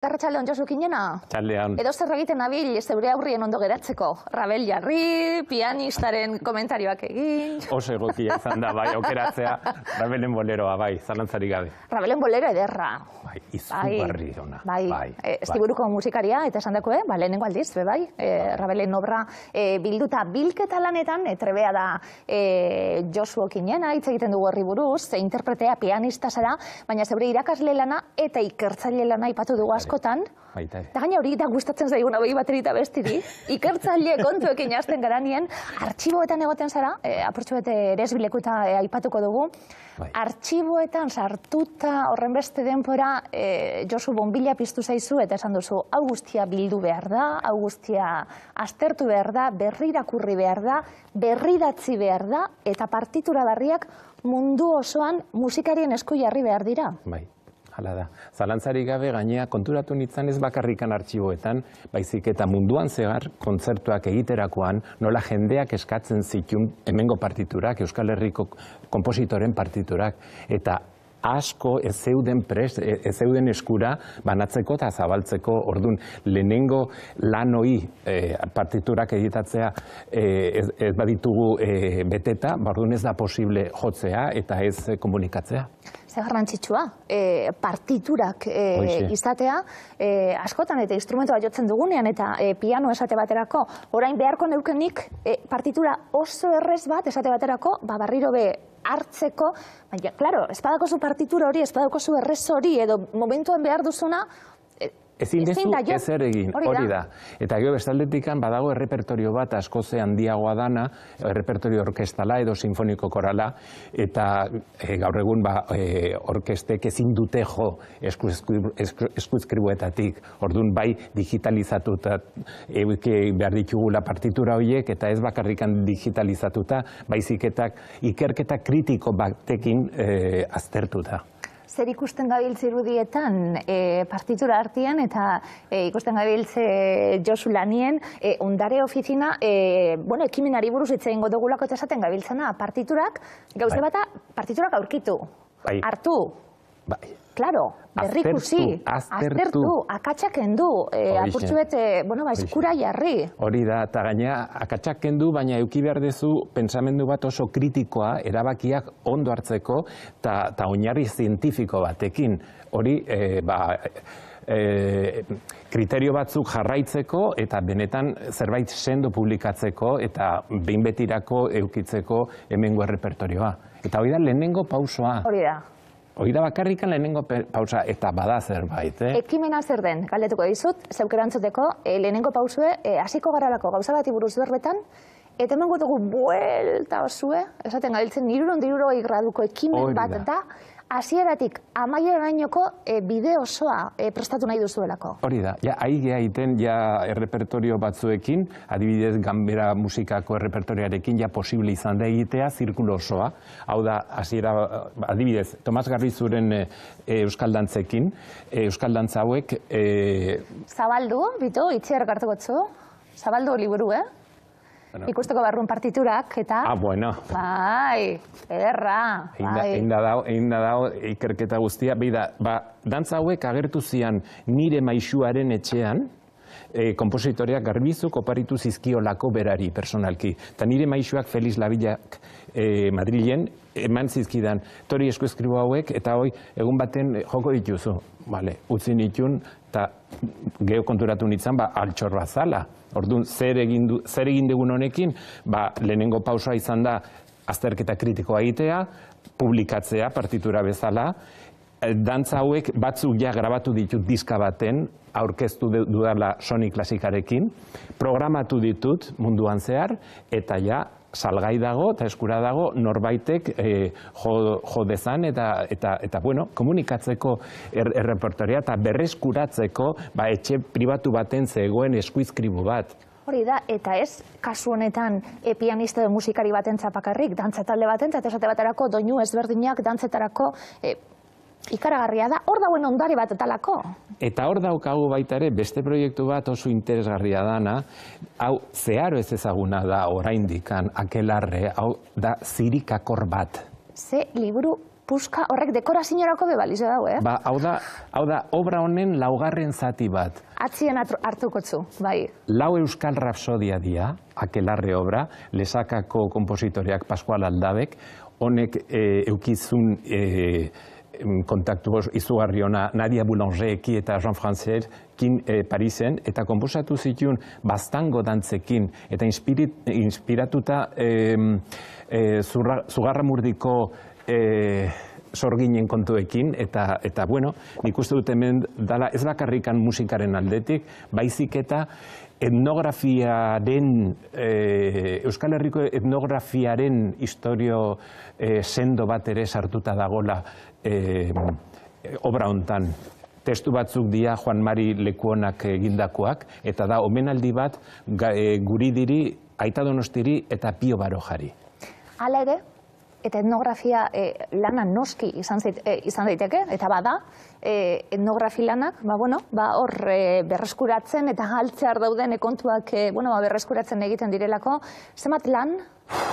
Arratsaldeon Josu Kinena. Txaldean. Edo zer egiten nabil zeure aurrien ondo geratzeko. Rabel jarri, pianistaren komentarioak egin. Oso egokia izan da, bai, aukeratzea, Rabelen boleroa, bai, zalantzarik gabe. Rabelen bolero ederra. Bai, izugarri ona. Bai, Estiburuko musikaria, eta esan dakoe, lehenengo aldiz, bai, Rabelen obra bilduta bilketa lanetan, trebea da Josu Kinena, hitz egiten dugu horri buruz, interpretea pianista zara, baina zeure irakasle lana eta ikertzaile lana aipatu dugu askotan. Eta gaina hori da gustatzen zaiguna behi baterita bestiri. Ikertzaile kontuekin hasten garanien, artxiboetan egoten zara, apurtxu bete eresbileku eta aipatuko dugu. Artxiboetan sartuta horren beste denpora Josu bonbila piztu zaizu eta esan duzu, hau guztia bildu behar da, hau guztia aztertu behar da, berrirakurri behar da, berridatzi behar da, eta partitura berriak mundu osoan musikarien esku jarri behar dira. Bai. Hala da. Zalantzarik gabe gainea konturatu nintzen ez bakarrikan artxiboetan, baizik eta munduan zehar kontzertuak egiterakoan nola jendeak eskatzen zituen hemengo partiturak, Euskal Herriko konpositoren partiturak, eta asko ez zeuden eskura banatzeko eta zabaltzeko. Ordun lehenengo lanoi partiturak editatzea ez baditugu beteta, ordun ez da posible jotzea eta ez komunikatzea. Ze garrantzitsua, partiturak izatea, askotan eta instrumentoa jotzen dugunean eta piano esate baterako, orain beharko neukenik partitura oso errez bat esate baterako, barriro be hartzeko, baina, klaro, espadako zu partitura hori, espadako zu errez hori, edo momentuan behar duzuna, ezin dezu ezer egin, hori da. Eta gero bestaldetikan badago errepertorio bat askoze handiagoa dana, errepertorio orkestala edo sinfoniko korala, eta gaur egun orkestek ezin dute jo eskuizkribuetatik. Orduan bai digitalizatuta behar ditugula partitura horiek, eta ez bakarrikan digitalizatuta, baiziketak ikerketa kritiko batekin aztertuta. Zer ikusten gabiltze irudietan partitura artean eta ikusten gabiltze Josu lanien, ondare ofizina, ekimenari buruz hitz egingo dugulako eta esaten gabiltzena, partiturak, gauze bata, partiturak aurkitu, hartu, klaro, berrikusi, aztertu, akatsak kendu, apurtzu bete, eskura jarri. Hori da, eta gaina akatsak kendu, baina eduki behar dezu pentsamendu bat oso kritikoa, erabakiak ondo hartzeko, eta oinarri zientifiko batekin. Hori, kriterio batzuk jarraitzeko, eta benetan zerbait sendo publikatzeko, eta behin betirako eukitzeko hemengo errepertorioa. Eta hori da lehenengo pausoa. Hori da. Hori da bakarrikan lehenengo pausa eta bada zerbait, Ekimena zer den, galdetuko dizut, zeuk erantzuteko, lehenengo pausue, hasiko garralako gauza bati buruz berbetan, eta emango dugu buelta osue, esaten gabiltzen 360 graduko ekimen bat da, hasieratik amaierainoko bide osoa prestatu nahi duzuelako. Hori da, ahi geha egiten errepertorio batzuekin, adibidez Ganbera musikako errepertorioarekin posible izan da egitea zirkulo osoa. Hau da, adibidez, Tomas Garbizuren euskal dantzekin, euskal dantza hauek... Zabaldu, bitu, itziar gartukotzu, zabaldu liburu, Ikusteko barrun partiturak, eta... bueno. Bai, ederra. Egin da dago ikerketa guztia. Dantza hauek agertu zian nire maisuaren etxean, kompositoreak Garbizuk oparitu zizkiolako berari, personalki. Eta nire maisuak Feliz Lavillak Madrilen eman zizkidan tori eskueskribo hauek, eta hoi egun baten joko dituzu. Utzi nitun, eta geho konturatu nintzen, altxor bat zala. Orduan, zer egin dugun honekin, lehenengo pausoa izan da azterketa kritikoa egitea, publikatzea partitura bezala, dantza hauek batzuk grabatu ditut diska baten, aurkeztu dudala Sony Klasikarekin, programatu ditut munduan zehar, eta salgai dago eta eskura dago norbaitek jo dezan eta komunikatzeko errepertoria eta berreskuratzeko etxe pribatu baten zegoen eskuizkribu bat. Hori da, eta ez kasu honetan pianista edo musikari batentzat bakarrik, dantza talde batentzat, esate baterako doinu ezberdinak dantzetarako ikaragarria da, hor dauen ondare bat etalako. Eta hor daukagu baita ere beste proiektu bat oso interesgarria dana, hau zeharo ez ezaguna da oraindikan, akelarre, hau da zirikakor bat. Ze liburu puska, horrek dekoraziorako bebalizo dago, Ba, hau da, obra honen laugarren zati bat. Atzien hartukotzu, bai. Lau euskal rapsodia dia, akelarre obra, lesakako kompositoreak Pascual Aldabek, honek eukizun kontaktu izugarri ona Nadia Boulangereki eta Jean Francesekin Parisen, eta konposatu zituen baztango dantzekin, eta inspiratuta Zugarramurdiko sorginen kontuekin, eta bueno, nik uste dut hemen dala ez bakarrikan musikaren aldetik, baizik eta etnografiaren, Euskal Herriko etnografiaren historio sendo bat ere sartuta dagola obra hontan. Testu batzuk dira Juan Mari Lekuonak egindakoak, eta da omenaldi bat Guridiri, Aita Donostiri eta Pio Barojari. Hala ere, eta etnografia lana noski izan daiteke, eta bada, etnografi lanak, hor berreskuratzen eta galtzear dauden kontuak berreskuratzen egiten direlako, zenbat lan,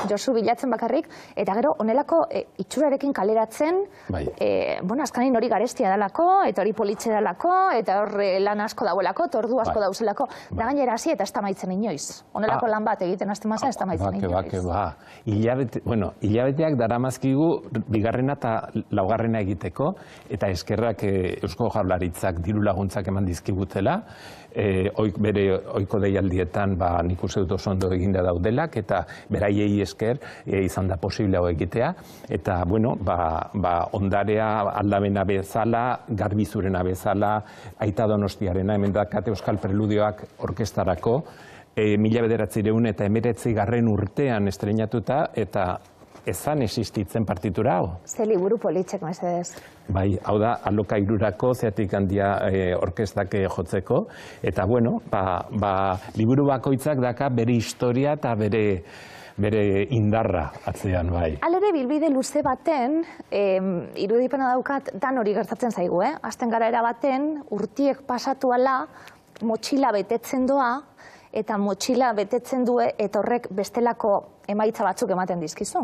Josu bilatzen bakarrik, eta gero onelako itxurarekin kaleratzen, azkanin hori garestia dalako, eta hori politxe dalako, eta hor lan asko dauelako, tordu asko dauzelako, da gainera hasi eta ez da maitzen inoiz. Onelako lan bat egiten azte maza, ez da maitzen inoiz. Hilabeteak daramazkigu bigarrena eta laugarrena egiteko, eta eskerrak Eusko Jaurlaritzak diru laguntzak eman dizkigutela, oiko deialdietan nik uste dut oso ondo eginda daudelak, eta beraiei esker izan da posible hau egitea, eta ondarea Aldabena bezala, Garbizurena bezala, Aita Donostiarena, hemen dakate Euskal Preludioak orkestarako, 1919 urtean estreinatuta, eta ezan existitzen partitura hau. Ze liburu politxek, mesedez. Bai, hau da, alokairurako, zeatik handia orkestak jotzeko, eta liburu bakoitzak daka bere historia eta bere indarra atzean, bai. Halere, bilbide luze baten, irudipena daukat, dan hori gertatzen zaigu, Azten gara erabaten, urtiek pasatu ala, motxila betetzen doa, eta motxila betetzen du, eta horrek bestelako emaitza batzuk ematen dizkizu.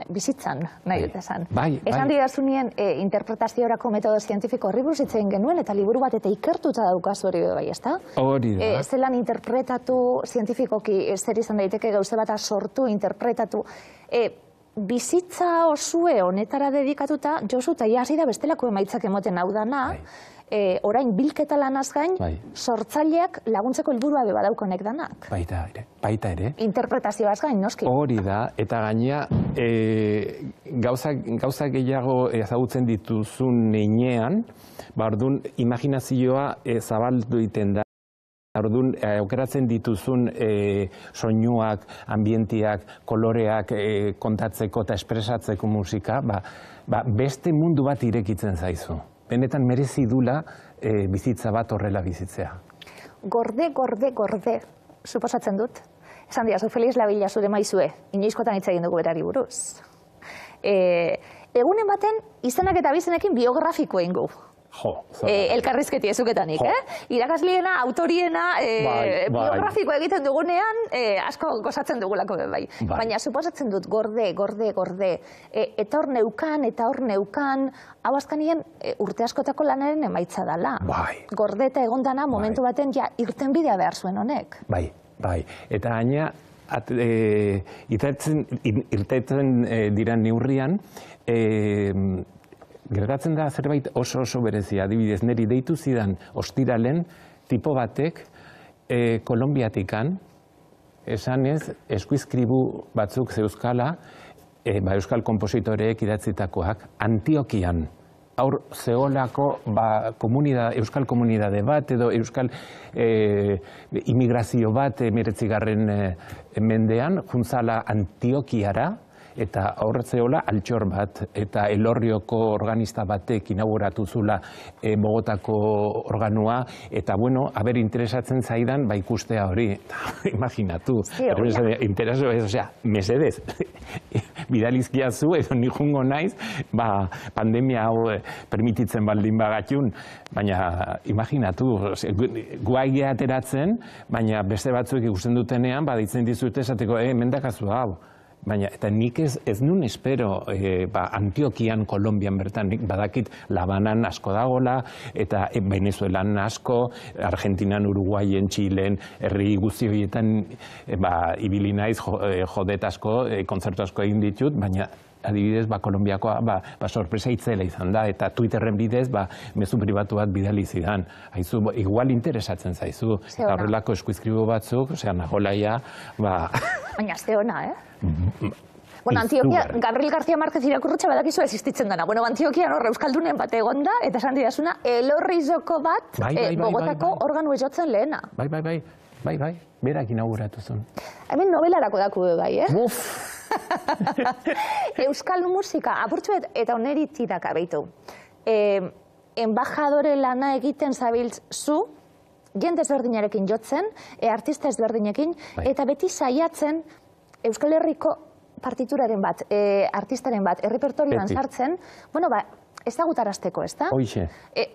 Bizitzan, nahi dut esan. Esan didazunien interpretaziorako metodo zientifiko horri buruz hitz egin genuen, eta liburu bat eta ikertuta daukazu hori bai, ezta? Hori da. Zelan interpretatu zientifikoki zer izan daiteke gauze bat sortu, interpretatu. Bizitza osue honetara dedikatuta, Josu, eta hasi da bestelako emaitzak emoten hau dana, orain bilketa lanaz gain, sortzaileak laguntzeko helburua badaukonek danak. Baita ere. Interpretazioaz gain, noski. Hori da, eta gaina gauza gehiago ezagutzen dituzun neinean, orduan imaginazioa zabaldu iten da. Orduan, aukeratzen dituzun soinuak, ambientiak, koloreak kontatzeko eta espresatzeko musika, beste mundu bat irekitzen zaizu. Benetan merezi dula bizitza bat horrela bizitzea. Gorde, suposatzen dut. Esan diazu, Feliz Labila zure maizue, inoizkotan hitz egin dugu berari buruz. Egunen baten, izenak eta bizenekin biografiko eingu. Elkarrizketi ezuketanik, irakasliena, autoriena, biografiko egiten dugunean, asko gozatzen dugulako bai. Baina suposatzen dut, gorde, eta hor neukan, hau azkanien urte askotako lanaren emaitza dela. Gorde eta egondana momentu baten irten bidea behar zuen honek. Bai, eta gaina, irtetzen dira neurrian, gertatzen da zerbait oso berezia, adibidez, niri deitu zidan ostiralen tipo batek Kolonbiatikan, esanez, eskuizkribu batzuk zeuzkala, euskal kompositoreek idatzitakoak, Antiokian, aur zeolako euskal komunidade bat, edo euskal imigrazio bat 19. Mendean, juntzala Antiokiara, eta aurretzeola altxor bat, eta Elorrioko organista batek inauguratu zula Bogotako organua, eta haber interesatzen zaidan ikustea hori. Imaginatu, mesedez, bidalizkiazu, edo nijungo naiz, pandemia hau permititzen baldin bagatxun, baina imaginatu, guaia ateratzen, baina beste batzuk ikusten dutenean, ditzen dizute esateko, mendakazu hau. Baina, eta nik ez nun espero Antiokian, Kolombian bertan, nik badakit Labanan asko dagola, eta Venezuelan asko, Argentinan, Uruguayen, Txilen, herri guzti horietan ibili naiz, jodet asko, kontzertu asko egin ditut, baina adibidez, Kolombiakoa sorpresa itzela izan da, eta Twitterren bidez, mezu pribatu bat bidali zidan. Haizu, igual interesatzen zaizu, eta horrelako eskuizkribu batzuk, nagolaia, Baina, ze ona, Bueno, Antioquia, Gabriel García Márquez irakurrutxa badakizu existitzen dena. Bueno, Antioquian horre euskaldunen bat egon da, eta esan didazuna, elorrizoko bat Bogotako organu ezotzen lehena. Bai, berak inauguratu zuen. Hemen novelarako daku bai, Euskal musika, apurtzuet, eta oneri tirak abeitu. Embajadore lana egiten zabiltz zu, jende ezberdinarekin jotzen, artista ezberdinekin, eta beti saiatzen Euskal Herriko partituraren bat, artistaren bat, errepertorioan sartzen, bueno, ezagutarazteko, ez da? Hoixe.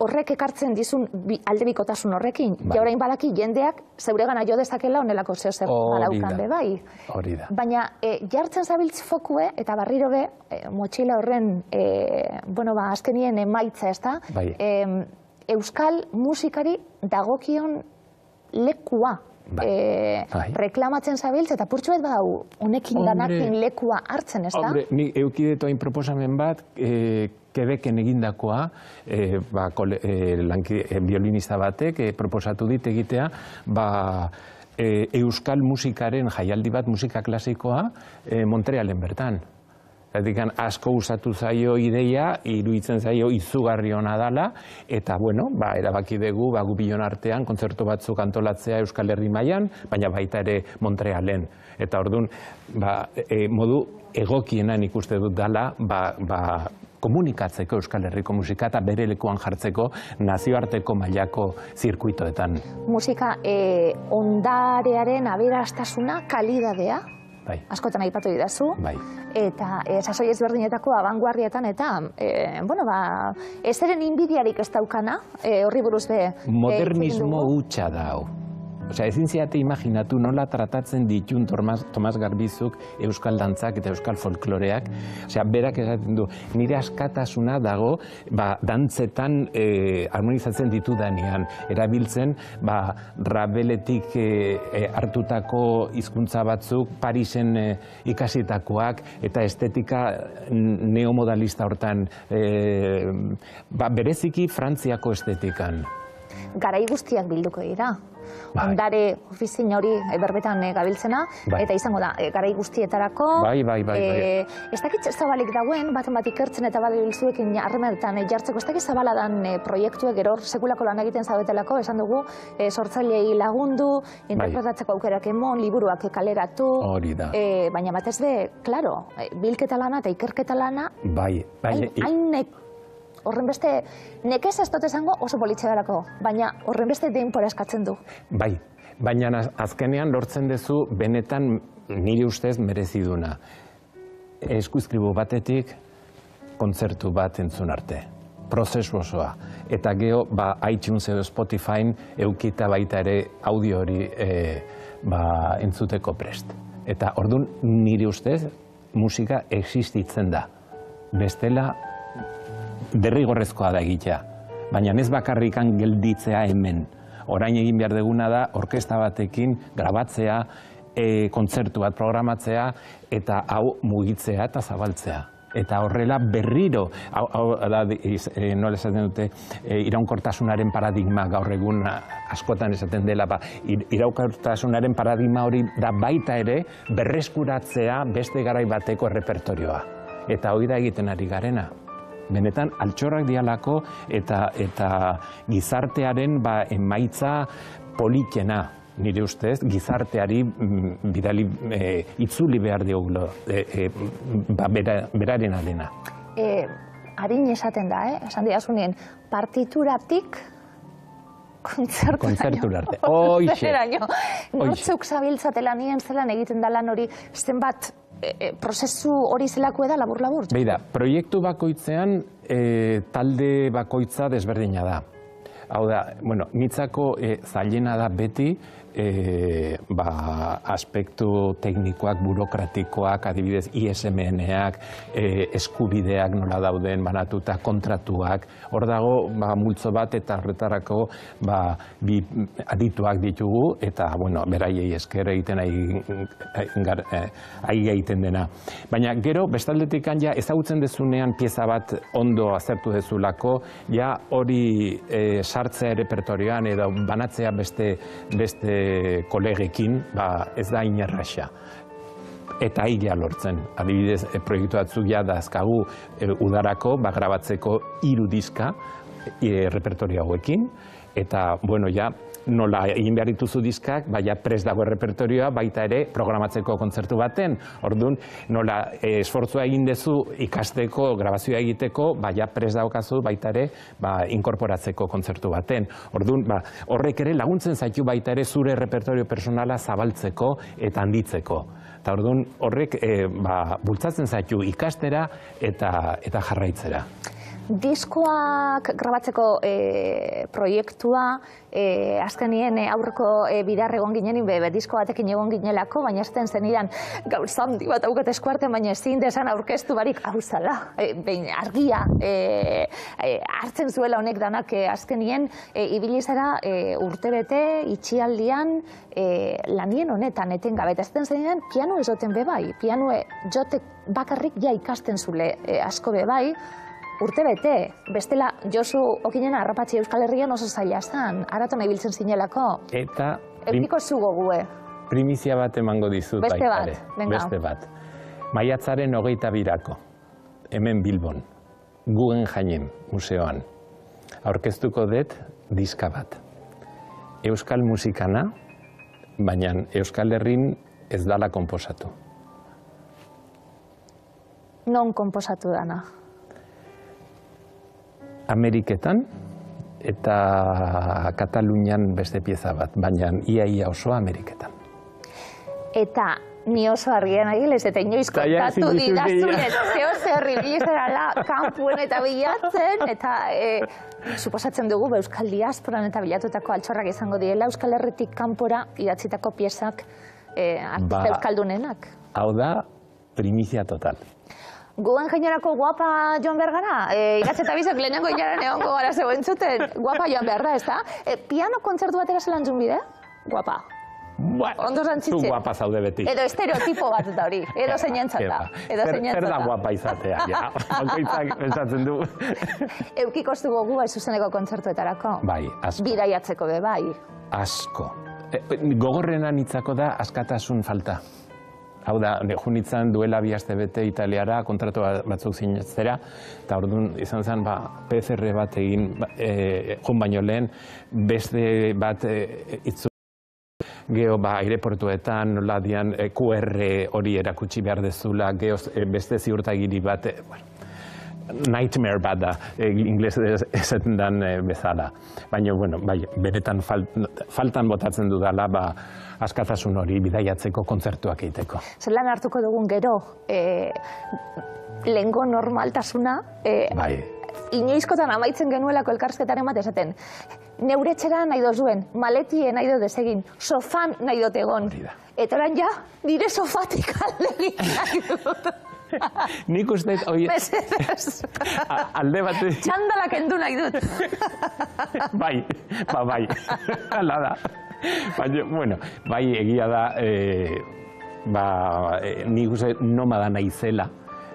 Horrek ekartzen dizun aldebikotasun horrekin, orain badaki jendeak zeuregana jo dezakela onelako zeozer badaukan be bai. Hori da. Baina jartzen zabiltz fokue, eta barriro be, motxila horren, azkenien emaitza, ez da? Euskal musikari dagokion lekua reklamatzen zabiltz, eta purtsuet badau, honekin danakin lekua hartzen, ez da? Hombre, ni eukidetu hain proposamen bat, Quebecen egindakoa, violinista batek proposatu dit egitea, euskal musikaren jaialdi bat, musika klasikoa, Montrealen bertan. Asko usatu zaio ideia, iruditzen zaio izugarri hona dala, eta, erabaki dugu, gu bion artean, kontzertu batzuk antolatzea Euskal Herri mailan, baina baita ere Montrealen. Eta orduan, modu egokienan ikuste dut dala, komunikatzeko Euskal Herriko musika eta bere lekuan jartzeko nazioarteko mailako zirkuitoetan. Musika ondarearen aberastasuna, kalidadea, askotan aipatu didazu, eta sasoi ezberdinetako abanguarrietan, eta, ezeren inbidiarik ez daukana, horri buruz be... Modernismo hutsa da hau. Ezin ziate imaginatu nola tratatzen ditun Tomas Garbizuk euskal dantzak eta euskal folkloreak. Berak esaten du, nire askatasuna dago dantzetan harmonizatzen ditudanean. Erabiltzen Rabeletik hartutako hizkuntza batzuk, Parisen ikasitakoak eta estetika neomodalista hortan. Bereziki Frantziako estetikan. Garai guztiak bilduko dira. Ondare ofizin hori berbetan gabiltzena, eta izango da, garai guztietarako. Ez dakit zabalik dauen, baten bat ikertzen eta balizuekin harremetan jartzeko, ez dakit zabaladan proiektuek gero sekulako lan egiten zabetelako, esan dugu, sortzailei lagundu, interpretatzeko aukerak emon, liburuak kaleratu. Baina batez be, klaro, bilketa lana eta ikerketa lana, hainek horren beste, nekez ez dut esango oso politxea darako, baina horren beste denpora eskatzen du. Baina azkenean lortzen duzu benetan nire ustez mereziduna. Eskuizkribu batetik kontzertu bat entzun arte. Prozesu osoa. Eta geho, iTunes edo Spotifyn eukita baita ere audio hori entzuteko prest. Eta orduan nire ustez musika existitzen da. Bestela, derrigorrezkoa da egitea, baina ez bakarrikan gelditzea hemen. Orain egin behar deguna da, orkesta batekin grabatzea, kontzertu bat programatzea, eta hau mugitzea eta zabaltzea. Eta horrela berriro, nola esaten dute, iraunkortasunaren paradigma gaur egun askotan esaten dela, iraunkortasunaren paradigma hori da baita ere berreskuratzea beste garai bateko errepertorioa. Eta hori da egiten ari garena. Benetan, altxorrak dialako eta gizartearen emaitza politena, nire ustez, gizarteari bidali itzuli behar diogulo beraren adena. Harin esaten da, esan diazunen, partituratik kontzertura arte. Hoixe. Nortzuk zabiltzatela nien zelan egiten da lan hori, zenbat prozesu hori zelako eda labur-labur? Beida, proiektu bakoitzean talde bakoitza desberdina da. Hau da, bueno, nitzako zailena da beti aspektu teknikoak, burokratikoak, adibidez ISMN-ak, eskubideak nola dauden banatuta, kontratuak, hor dago multzo bat eta horretarako bi adituak ditugu eta, bueno, beraiei esker egiten egiten dena. Baina gero, bestaldetik ja ezagutzen dezunean pieza bat ondo azertu dezulako, ja hori sartzea errepertorioan edo banatzea beste kolegekin, ez da inerraxa. Eta hila lortzen. Adibidez, proiektu batzuk ja dazkagu udarako, grabatzeko 3 diska repertorio hauekin, eta, bueno, ja, nola egin behar dituzu diskak, prest dago repertorioa, baita ere programatzeko kontzertu baten. Orduan, nola esfortzua egin dezu ikasteko, grabazioa egiteko, prest daukazu baita ere inkorporatzeko kontzertu baten. Orduan, horrek ere laguntzen zaitu baita ere zure repertorio personala zabaltzeko eta handitzeko. Eta orduan, horrek bultzatzen zaitu ikastera eta jarraitzera. Diskoak grabatzeko proiektua, azkenien aurreko bidar egon ginen, disko batekin egon ginelako, baina ez zenidan gauza handi bat aukat eskuartean, baina ezin desan aurkeztu barik hau zala, argia hartzen zuela honek danak azkenien, ibilizera urtebete, itxialdian, lanien honetan etengabe, eta ez zenidan piano ezoten bebai, pianoe jotek bakarrik ja ikasten zule asko bebai, urtebete, bestela Josu Okinena harrapatzi Euskal Herrian oso zaila zan, araton ibiltzen zinelako. Eta Eukiko zugo gue. Primizia bat emango dizut baitare. Beste bat. Maiatzaren 22-ako, hemen Bilbon, Guggenheim museoan, aurkeztuko dut diska bat. Euskal musikana, baina Euskal Herrin ez dala konposatu. Non konposatu dana? Ameriketan eta Katalunian beste pieza bat, baina ia osoa Ameriketan. Eta ni oso argian agilez, eta inoiz kontatu didazunez, zeo zerri bilizerala kanpuen eta bilatzen, eta suposatzen dugu Euskal Diasporan eta bilatutako altxorrak izango direla, Euskal Herritik kanpora idatzitako piezak artista euskaldunenak. Hau da, primizia total. Guggenheimerako guapa joan behar gara? Iratxe eta bizok lehenengo hilaren egongo gara zego entzuten. Guapa joan behar da, ez da? Piano kontzertu batera zelan bide? Guapa. Ondo zantzitze. Zu guapa zaude beti. Edo estereotipo bat eta hori. Edo zeinentzata. Zer da guapa izatea, ja. Bakoitzak pensatzen du. Eukiko zugo gu zuzeneko kontzertuetarako? Bai, asko. Bidaiatzeko be, bai. Asko. Gogorrena nitzako da askatasun falta. Hau da, junitzen duela 2 aste bete Italiara, kontratu batzuk sinatzera, eta orduan izan zen PCR bat egin, joan baino lehen, beste bat itzu geho aireportuetan, nola dian QR hori erakutsi behar dezula, geho beste ziurtagiri bat, nightmare bat da, inglesez esaten dan bezala. Baina, bueno, benetan faltan botatzen dudala, askatasun hori bidaiatzeko kontzertuak egiteko. Zelan hartuko dugun gero, lehengo normaltasuna, inoizkotan amaitzen genuelako elkarrizketaren bat esaten, neuretxera nahi dozuen, maletien nahi dut desegin, sofan nahi dut egon. Eta oran ja, nire sofatik aldegin nahi dut. Nik uste hori... Alde bat... Txandalak endu nahi dut. Bai, hala da. Baina, bueno, bai egia da, nik uste nomada naizela,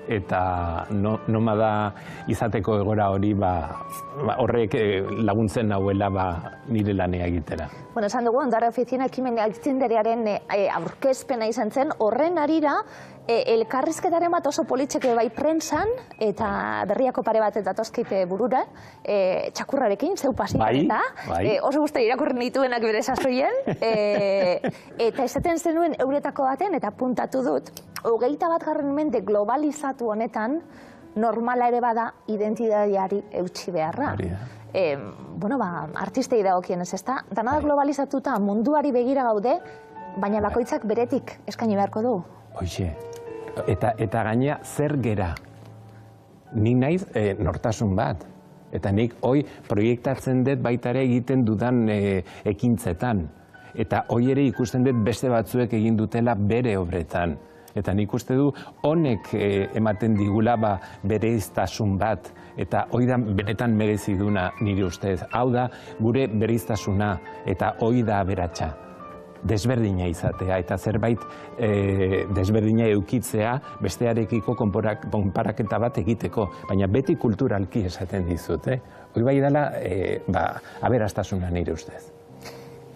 eta nomada izateko egora hori horrek laguntzen nahuela nire lanea egitera. Bueno, esan dugu, Ondarra Ofiziona ekimen aitzindariaren aurkezpena izan zen, horren arira, elkarrizketaren bat oso politxeke bai prentsan, eta berriako pare bat eta toskeite burura, txakurrarekin, zeu pasitan eta, oso guzti irakurri nituenak bere sasoien, eta esaten zenuen euretako baten, eta puntatu dut, 21. mende globalizatu honetan, normala ere bada identitateari eutsi beharra. Bueno, artistei dagokienez, ezta? Dana da globalizatuta munduari begira gaude, baina bakoitzak beretik eskaini beharko du. Hoxe, eta gainea zer gera? Nik naiz nortasun bat. Eta nik hoi proiektatzen dut baita ere egiten dudan ekintzetan. Eta hoi ere ikusten dut beste batzuek egin dutela bere obretan. Eta nik uste du honek ematen digula bereiztasun bat. Eta hoi da benetan mereziduna nire ustez. Hau da gure bereiztasuna eta hoi da aberatsa. Desberdina izatea eta zerbait desberdina eukitzea bestearekiko konparaketa bat egiteko. Baina beti kulturalki esaten dizut. Hoi bai dela aberastasuna nire ustez.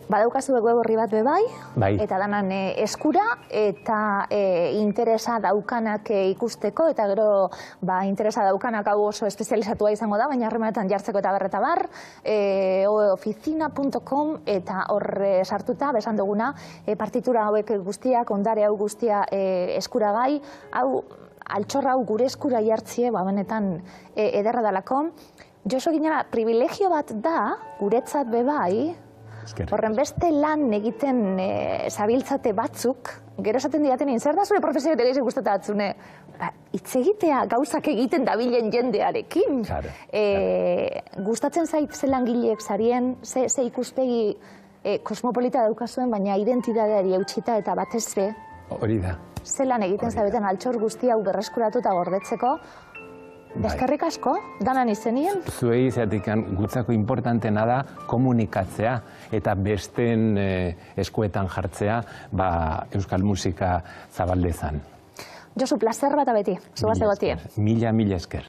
Badaukazu web orri bat bebai, Bai. eta danan eskura, eta interesa daukanak ikusteko, eta gero interesa daukanak hau oso espezializatua izango da, baina harremanetan jartzeko eta berreta bar, oficina.com, eta horre sartuta, besan duguna, partitura hauek guztiak, ondare hau guztia eskuragai, hau altxorra hau gure eskura jartzie, benetan ederra dalako. Josu Ginara, privilegio bat da, guretzat bebai, horren beste lan egiten zabiltzate batzuk, gero esaten diaten zer da zure profesioa ere gustatatzune? Hitz egitea gauzak egiten dabilen jendearekin. Gustatzen zait ze langileek zarien, ze ikuspegi kosmopolita daukazuen, baina identitateari eutxita eta batez be. Hori da. Ze lan egiten zabeten altxor guzti hau berreskuratu eta gordetzeko. Eskerrik asko, danan izenien? Zuei izatekan gutzako importantena da komunikatzea eta besteen eskuetan jartzea euskal musika zabaldezan. Josu, plazer bat abeti, zugaz egotie. Mila esker.